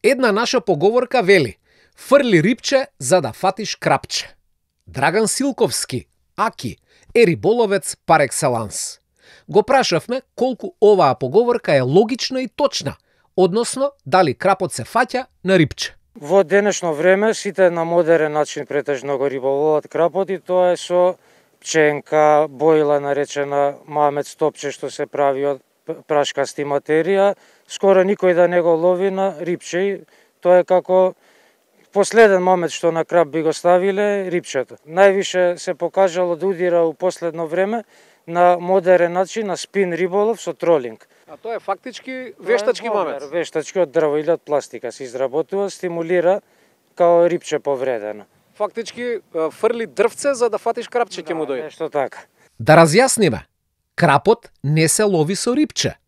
Една наша поговорка вели: фрли рипче за да фатиш крапче. Драган Силковски, Аки, е риболовец пар екселанс. Го прашавме колку оваа поговорка е логична и точна, односно дали крапот се фаќа на рипче. Во денешно време сите на модерен начин претежно го риболоват крапот и тоа е со пченка, бојла наречена мамец топче што се прави од прашкасти материја. Скоро никој да не го лови на рипче. Тоа е како последен мамец што на крап би го ставиле рипчето. Највише се покажало да удира у последно време на модерен начин на спин риболов со тролинг. А тоа е фактички вештачки мамец. Вештачки од дрво или од пластика се изработува, стимулира као рипче повредено. Фактички фрли дрвце за да фатиш крапче ќе му дојде. Нешто така. Да разјасниме, крапот не се лови со рипче.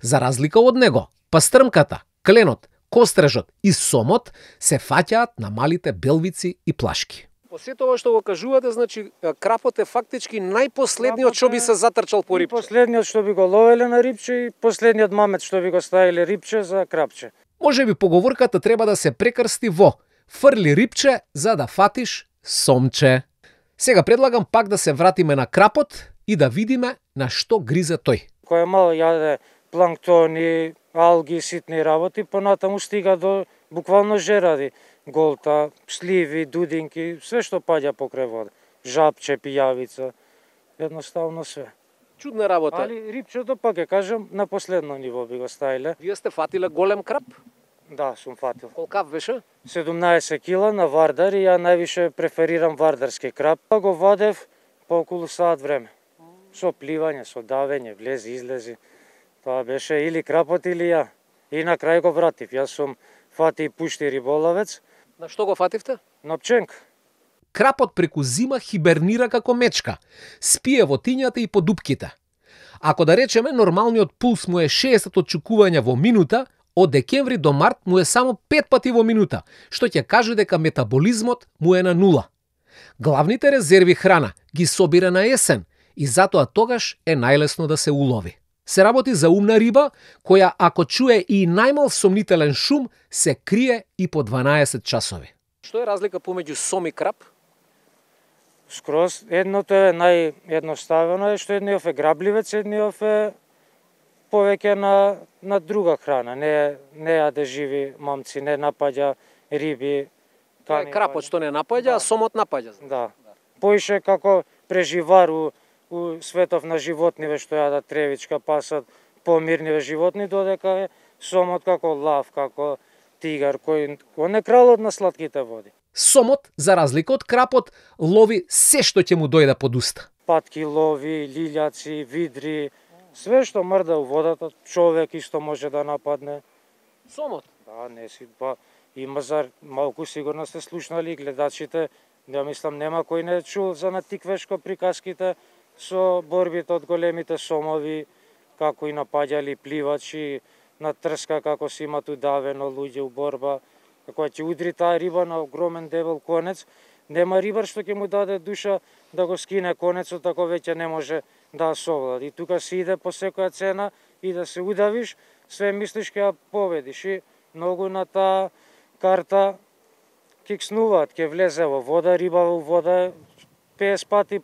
За разлика од него, пастрмката, кленот, кострежот и сомот се фаќаат на малите белвици и плашки. По сето ова што го кажувате, значи крапот е фактички најпоследниот што би се затрчал по рипче. Последниот што би го ловеле на рипче и последниот мамец што би го ставиле рипче за крапче. Може би поговорката треба да се прекрсти во: фрли рипче за да фатиш сомче. Сега предлагам пак да се вратиме на крапот и да видиме на што гризе тој. Кој е мал јаде планктони, алги, ситни работи, понатаму стига до буквално жеради. Голта, сливи, дудинки, све што паѓа покрај вода. Жабче, пијавица, едноставно све. Чудна работа. Али рипчето, пак ќе кажем, на последно ниво би го ставиле. Вие сте фатиле голем крап? Да, сум фатил. Колкав беше? 17 кила на вардар и ја највише преферирам вардарски крап. Го вадев по околу саат време. Со пливање, со давење, влези, излези. Тоа беше или крапот или ја. И на крај го вратив. Јас сум фати и пушти риболовец. На што го фативте? На пченка. Крапот преку зима хибернира како мечка. Спие во тињата и по дупките. Ако да речеме нормалниот пулс му е 60 отчукувања во минута, од декември до март му е само 5 пати во минута, што ќе каже дека метаболизмот му е на нула. Главните резерви храна ги собира на есен и затоа тогаш е најлесно да се улови. Се работи за умна риба, која ако чуе и најмал сомнителен шум, се крие и по 12 часови. Што е разлика помеѓу сом и крап? Скроз едното е наједноставено е што едниот е грабливец, едниот е повеќе на друга храна, не јаде живи мамци, не напаѓа риби. Тоа е крапот што не напаѓа, а сомот напаѓа. Да. Поише како преживар у светов на животниве што јадат тревичка, пасат помирниве животни, додека е сомот како лав, како тигар, кој е кралот на слатките води. Сомот, за разлика од крапот, лови се што ќе му дојде под уста. Патки лови, лилјаци, видри, све што мрда у водата, човек исто може да нападне. Сомот? Да, не си, има малку сигурно сте слушнали гледачите, ја мислам нема кој не чул за на тиквешко приказките со борбите од големите сомови, како и напаѓали пливачи, на трска како си имат удавено луѓе у борба, како ќе удри таа риба на огромен дебел конец, нема рибар што ќе му даде душа да го скине конецот, ако веќе не може да совлади. И тука се иде по секоја цена и да се удавиш, све мислиш ќе ја победиш. И многу на таа карта кикснуваат, ќе влезе во вода, риба во вода 50 пати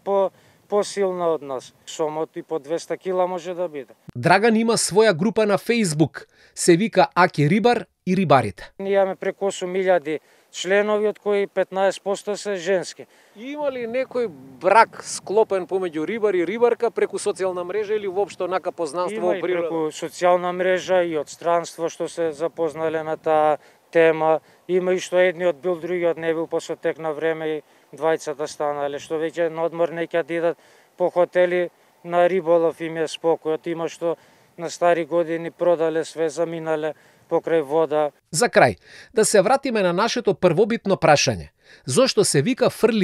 посилна од нас. Сомот и по 200 кила може да биде. Драган има своја група на Facebook, се вика Аки Рибар и рибарите. Ние имаме преку 8.000 членови, од кои 15% се женски. Има ли некој брак склопен помеѓу рибар и рибарка преку социјална мрежа или воопшто нака познанство во природа? Има и преку социјална мрежа и од странство што се запознале на таа тема. Има и што едниот бил, другиот не бил, после тек на време и двајцата станале, што веќе на одмор не ќе идат по хотели на риболов, им е спокојот. Има што на стари години продале све, заминале покрај вода. За крај, да се вратиме на нашето првобитно прашање. Зошто се вика фрли